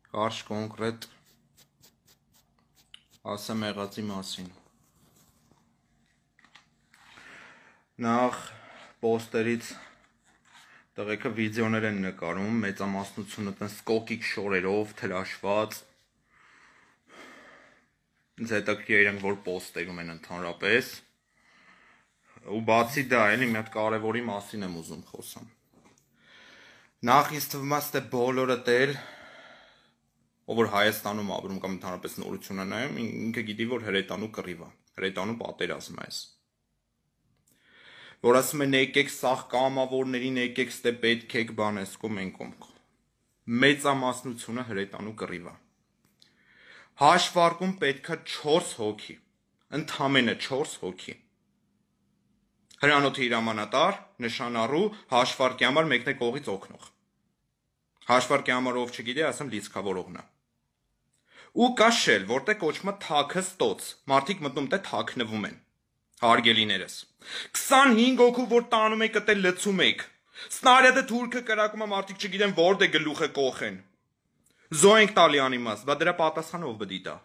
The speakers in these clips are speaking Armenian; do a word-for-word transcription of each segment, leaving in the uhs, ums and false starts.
Կարճ կոնկրետ ասեմ եղածի մասին։ Նախ պոստերից տղեկը վիդեոներ են նկարում, մեծամասնությունը տենց կոկիկ շորերով, թրաշված։ Ինձ հետաքրքիր է իրենք որ պոստերում են ընդհանրապես։ Ու բացի դա էլի մի հատ կարևորի մասին եմ ուզում խոսամ։ Նախ ինձ թվում է ստե բոլորը տել ով որ Հայաստանում ապրում կամ ընդհանրապես նորություն է նայում, ինքը գիտի, որ հրետանու կռիվ է, հրետանու պատերազմ է այս։ Որ ասում են եկեք սաղ կամավորներին, եկեք ստե պետք եք բան ես կո մենք կոմք։ Մեծամասնությունը հրետանու կռիվ է։ Հաշվարկում պետքա չորս հոգի, ընդամենը չորս հոգի։ Հրանոթի հրամանատար, նշանառու, հաշվարկի համար մեկն է կողից օգնող։ Հաշվարկի համար ով չգիտի, ասեմ լիցքավորողն է։ Ու կա շել, որտեղ կոչվում է թաքը ստոց, մարդիկ մտնում տե թաքնվում են, հարգելիներս։ քսանհինգ հոգու, որ տանում եք տե լցում եք, սնարյադը թուրքը կրակում է, մարդիկ չգիտեն որտե գլուխը կոխեն։ Զո ենք տալի անիմաստ, բա դրա պատասխանը ով բդի տա։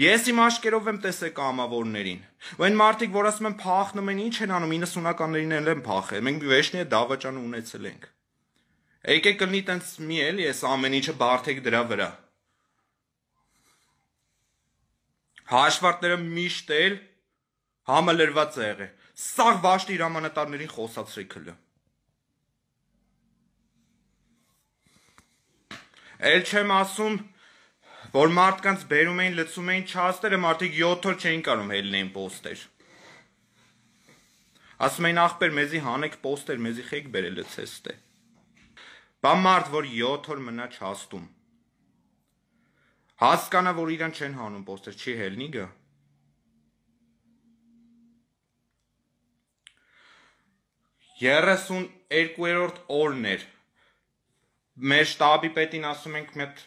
Ես իմ աշկերով եմ տեսել կամավորներին, ու այն մարդիկ, որ ասում են փախնում են, ինչ են անում, իննսունականներին էլ են փախել, մենք վեշնի է դավաճանը ունեցել ենք։ Եկեք կլինի տենց մի էլ ես ամեն ինչը բարդեք դրա վրա։ Հաշվարկները միշտ էլ համալրված է եղել։ Սաղ վաշտի հրամանատարներին խոսացրեք հլը։ Էլ չեմ ասում, որ մարդկանց բերում էին, լցում էին չաստերը, մարդիկ յոթ օր չէին կարող հելնեին պոստեր։ Ասում էին ախպեր մեզի հանեք պոստեր, մեզի խեք բերել լցեստե։ Բա մարդ, որ յոթ օր մնա չաստում։ Հասկանա, որ իրան չեն հանում պոստեր, չի հելնի գա։ երեսուն երկրորդ օրն էր։ Մեր շտաբի պետին ասում ենք մետ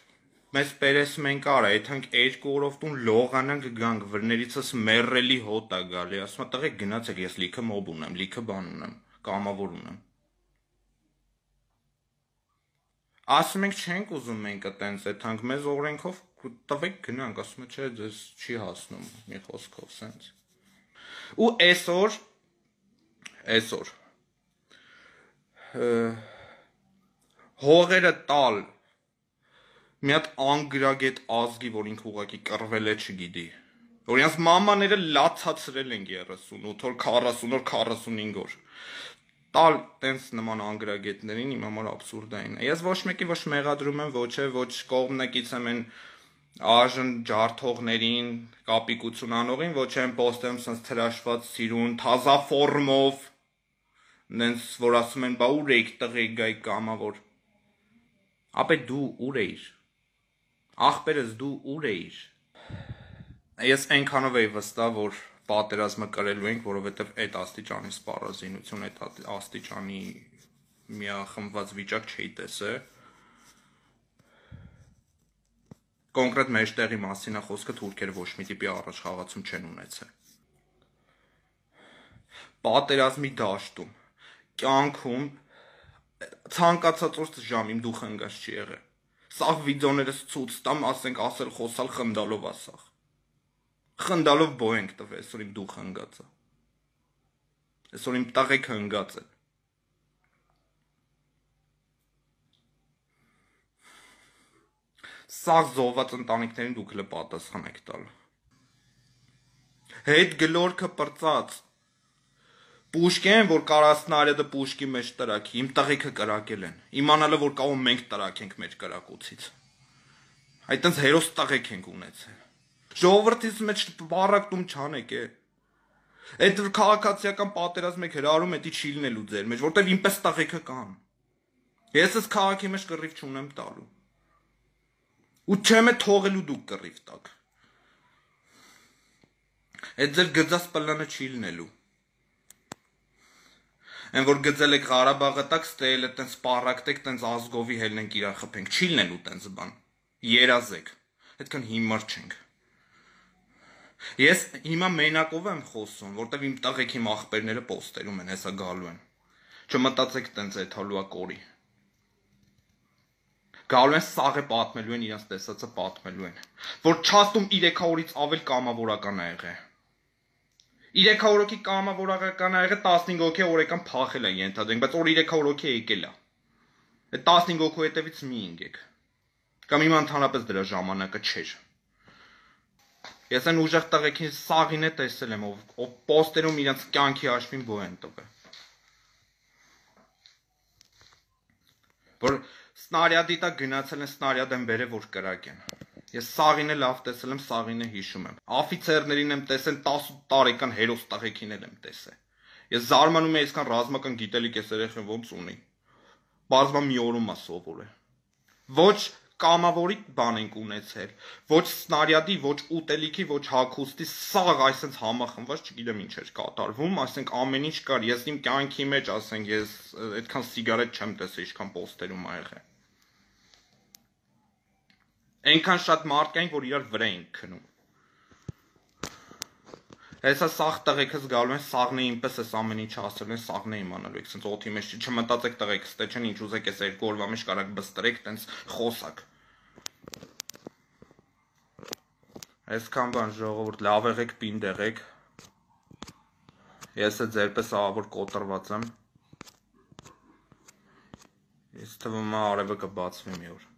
մեզ պերեսում ենք արա, եթանք երկու օրով տուն լողանանք գանք, վրներիցս մերրելի հոտ է գալի, ասում է տղեկ գնացեք, ես լիքը մոբ ունեմ, լիքը բան ունեմ, կամավոր ունեմ։ Ասում ենք չենք ուզում մենք տենց եթանք մեզ օրենքով տվեք գնանք, ասում է չէ, ձեզ չի հասնում մի խոսքով սենց։ Ու այսօր, այսօր, հողերը տալ մի հատ անգրագետ ազգի, որ ինքը ուղղակի կռվել է չգիտի, որ իրանց մամաները լացացրել են երեսունութ օր, քառասուն օր, քառասունհինգ օր, տալ տենց նման անգրագետներին իմ համար աբսուրդային է։ Ես ոչ մեկի ոչ մեղադրում եմ, ոչ է, ոչ կողմնակից եմ են աժն ջարդողներին, կապիկություն անողին, ոչ եմ պոստեմ սենց թրաշված սիրուն, թազա ֆորմով, նենց որ ասում են, բա ուր էիք տղեկ գայք կամավոր, ապե դու ուր էիր, ախպերս դու ուր էիր։ Ես այնքանով էի վստահ, որ պատերազմը կրելու ենք, որովհետև այդ աստիճանի սպառազինություն, այդ աստիճանի միախմբված վիճակ չէի տեսել։ Կոնկրետ մեջտեղի մասին է խոսքը, թուրքերը ոչ մի տիպի առաջխաղացում չեն ունեցել։ Պատերազմի դաշտում, կյանքում ցանկացած օր ժամ իմ դուխը ընկած չի եղել։ Սաղ վիդեոներս ցույց տամ, ասենք ասել խոսալ խնդալով ասախ։ Խնդալով բո ենք տվել, այսօր իմ դուխը ընկած է։ Այսօր իմ տղեկը ընկած է։ Սաղ զոհված ընտանիքներին դուք հլը պատասխան եք տալ։ Հետ գլորքը պրծած։ Պուշկեն, որ կարասնարյադը պուշկի մեջ տրակի, իմ տղեկը կրակել են, իմանալը, որ կաղում մենք տրակենք մեր կրակոցից։ Այդտենց հերոս տղեկ ենք ունեցել։ Ժողովրդից մեջ բարակտում չանեք է։ Այդ քաղաքացիական պատերազմ եք հրարում, էդի չի լինելու ձեր մեջ, որտև ինպես տղեկը կան։ Ես ես քաղաքի մեջ կռիվ չունեմ տալու։ Ու չեմ է թողելու դուք կռիվ տակ։ Այդ ձեր գծած պլանը չի լինելու։ Են որ գծել եք Ղարաբաղը տակ, ստել է տենց պարակտեք, տենց ազգովի հելնենք իրան խփենք, չի լինելու տենց բան, երազեք, հետքան հիմար չենք։ Ես հիմա մենակով եմ խոսում, որտև իմ տղեկ իմ ախպերները պոստերում են, հեսա գալու են, չմտածեք տենց էթալուա կորի։ Գալու են սաղը պատմելու են, իրենց տեսածը պատմելու են, որ չաստում երեք օրից ավել կամավորական ա եղել։ երեք հոգի կամավորական ա եղել, տասնհինգ հոգի օրական փախել է ենթադրենք, բայց որ երեք հոգի եկել է։ Այդ տասնհինգ հոգու հետևից մի ինգեք։ Կամ հիմա ընդհանրապես դրա ժամանակը չէր։ Ես այն ուժեղ տղեկին սաղին է տեսել եմ, ով պոստերում իրենց կյանքի հաշվին բո են տվել։ Որ սնարյադի տակ գնացել են սնարյադ են բերել, որ կրակեն։ Ես սաղին է լավ տեսել եմ, սաղին է հիշում եմ։ Աֆիցերներին եմ տեսել, տասը տարեկան հերոս տղեկին եմ տեսել։ Ես զարմանում եմ այսքան ռազմական գիտելիք էս երեխան ոնց ունի։ Բարձրا մի օրում է սովորել։ Ոչ կամավորի բան ենք ունեցել, ոչ սնարյադի, ոչ ուտելիքի, ոչ հագուստի, սաղ այսպես համախմբված, չգիտեմ ինչ էր կատարվում, ասենք ամեն ինչ կար, ես իմ կյանքի մեջ, ասենք ես այդքան սիգարետ չեմ տեսել, ինչքան պոստերում ա եղել։ Այնքան շատ մարդ կային, որ իրար վրա էին քնում։ Հեսա սաղ տղեկս գալու են, սաղն է ինպես էս ամեն ինչ ասել են, սաղն է իմանալու եք, սենց օթի մեջ չմտածեք տղեկս, թե չեն ինչ ուզեք ես երկու օրվա մեջ կարակ բստրեք, տենց խոսակ։ Այսքան բան ժողովուրդ, լավ եղեք, պինդ եղեք։ Ես է ձերպես ահավոր կոտրված եմ։ Ես թվում է արևը կբացվի մի օր։